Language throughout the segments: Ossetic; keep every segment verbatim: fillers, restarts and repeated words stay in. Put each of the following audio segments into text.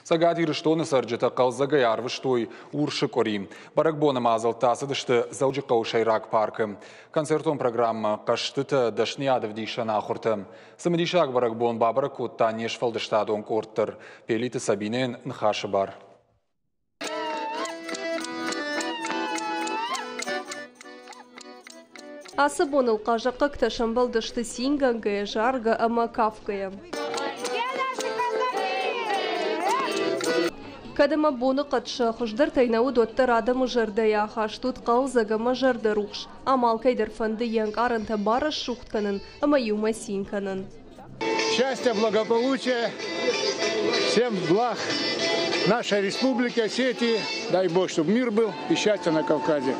Цӕгат Ирыстоны цӕрджытӕ хъӕлдзӕгӕй арвыстой Урсы къуыри. Бӕрӕгбоны мадзӕлттӕ ацыдысты Дзӕуджыхъӕуы сӕйраг паркы. Концертон программӕ, хъӕзтытӕ, дӕсныйад ӕвдисӕн ахуыртӕ. Цымыдисаг бӕрӕгбон бабӕрӕг кодта не сфӕлдыстадон къорд дӕр. Пелиты Сабинӕйӕн ныхасы бар. Ацы боныл хъазахъхъӕгтӕ сӕмбӕлдысты цингӕнгӕйӕ, заргӕ ӕмӕ кафгӕйӕ. Кӕд ӕмӕ боныхъӕд сӕ хуыздӕртӕй нӕ уыд, уӕддӕр адӕмы зӕрдӕйы ахаст уыд хъӕлдзӕг ӕмӕ зӕрдӕрухс. Ам алкӕй дӕр фӕнды йе нкъарӕнтӕ барӕсугъд кӕнын ӕмӕ иумӕ цин кӕнын. Счастья, благополучия, всем благ нашей республики, Осетии. Дай Бог, чтобы мир был и счастье на Кавказе.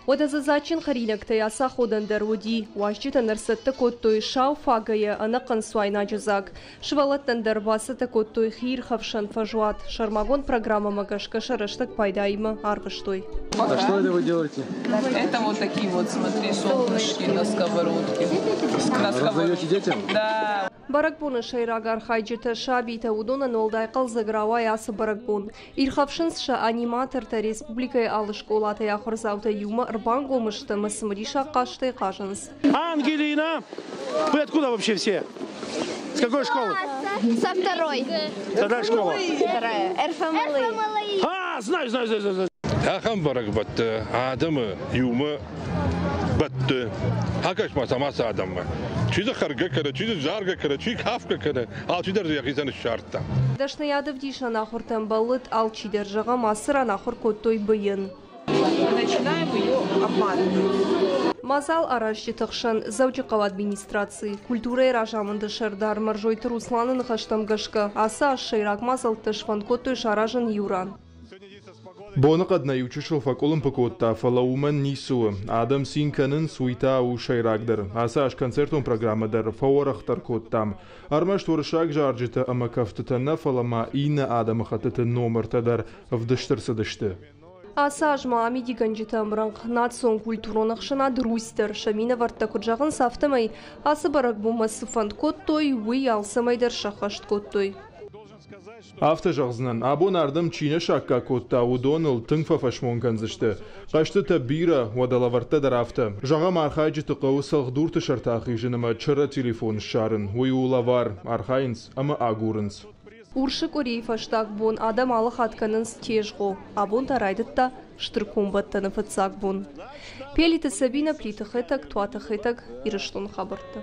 Уӕдӕ дзы дзаджджын хӕринӕгтӕй ацаходӕн дӕр уыди. Уазджытӕн ӕрцӕттӕ кодтой сау фагӕйӕ ӕнӕхъӕн цуайнаджы дзаг. Сывӕллӕттӕн дӕр бацӕттӕ кодтой хиирхӕфсӕн фӕзуат. Сӕрмагонд программӕмӕ гӕсгӕ сӕ рӕстӕг пайдаимӕ арвыстой. А что это вы делаете? Это вот такие вот, смотри, солнышки на сковородке. На Раздаете детям? Да. Бӕрӕгбоны сӕйраг архайджытӕ сабитӕ, уыдонӕн уӕлдай хъӕлдзӕг рауайы ацы бӕрӕгбон. Ирхӕфсынц сӕ аниматортӕ республикӕйы алы скъолатӕй ахуырдзаутӕ иумӕ ӕрбангом сты ӕмӕ цымыдисаг хъазтӕй хъазынц. Ангелина, вы откуда вообще все? С какой школы? Со второй. Вторая школа? Вторая. РФМЛИ. А, знаю, знаю, знаю, знаю. Ахӕм бӕрӕгбӕтты адӕмы иумӕ бӕтты. Акӕс-ма сӕм ацы адӕммӕ. Чи дзы хӕргӕ кӕны, чи дзы заргӕ кӕны, чи кафгӕ кӕны, алчидӕр дзы йӕхицӕн ссардта. Дӕсныйад ӕвдисӕн ахуыртӕм бӕллыд алчидӕр, зӕгъӕм, ацы ран ахуыр кодтой быйын. Начинаем ее обматывать. Мадзал аразджыты хсӕн Дзӕуджыхъӕуы администраци, культурӕйы разамынды сӕрдар Мӕрзойты Русланы ныхӕстӕм гӕсгӕ ацы аз сӕйраг мадзӕлттӕ сфӕнд кодтой саразын иу ран. Боныхъӕд нӕ иучысыл фӕкъуылымпы кодта, фӕлӕ уымӕн ницы у. Адӕм цин кӕнынц, уый та у сӕйрагдӕр. Ацы аз концертон программӕ дӕр фӕуӕрӕхдӕр кодтам. Ӕрмӕст уырыссаг зарджытӕ ӕмӕ кӕфтытӕ нӕ, фӕлӕ ма иннӕ адӕмыхӕттыты номыртӕ дӕр ӕвдыст ӕрцыдысты. Ацы аз ма амидигӕнджыты ӕмрӕнхъ национ культурон ӕхсӕнад Русь дӕр сӕ минӕвӕрттӕ куыд зӕгъынц, афтӕмӕй ацы бӕрӕгбонмӕ цы фӕнд кодтой, уый алцӕмӕй дӕр сӕххӕст кодтой. Афтӕ зӕгъдзынӕн, абон ардӕм чи нӕ саккаг кодта, уыдоныл тынг фӕфӕсмон кӕндзысты. Хъӕзтытӕ бирӕ, уӕдӕ лӕвӕрттӕ дӕр афтӕ. Зӕгъӕм, архайджыты хъӕуы цӕлхдурты сӕрты ахизын ӕмӕ чырӕ телефон ссарын. Уый у лӕвар, архайынц ӕмӕ агурынц. Урсы къуырийы фӕстаг бон адӕм алы хатт кӕнынц тезгъо. Абон та райдыдта Стыр комбӕттӕны фыццаг бон. Пелиты Сабина, Плиты Хетӕг, Туаты Хетӕг, Ирыстоны хабӕрттӕ.